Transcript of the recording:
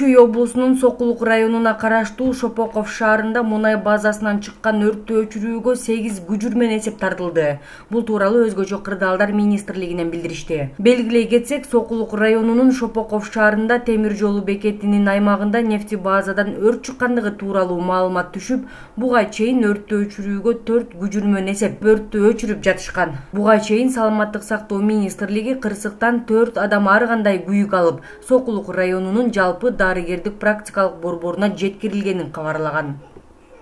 Чүй облусунун Сокулук районуна караштуу Шопоков шаарында мунай базасынан чыккан өрттү өчүрүүгө 8 күжүр менен эсеп тартылды. Бул тууралуу Өзгөчө кырдаалдар министрлигинен билдиришти. Белгилей кетсек, Сокулук районунун Шопоков шаарында темир жолу бекетинин аймагында нефти базадан өрт чыккандыгы тууралуу маалымат түшүп, буга чейин өрттү өчүрүүгө 4 күжүр менен эсеп өрттү өчүрүп жатышкан. Буга чейин Саламаттык сактоо министрлиги кырсыктан 4 адам ар кандай күйүк алып, Сокулук районунун жалпы дарыгердик практикалык борборуна жеткирилгенин кабарлаган.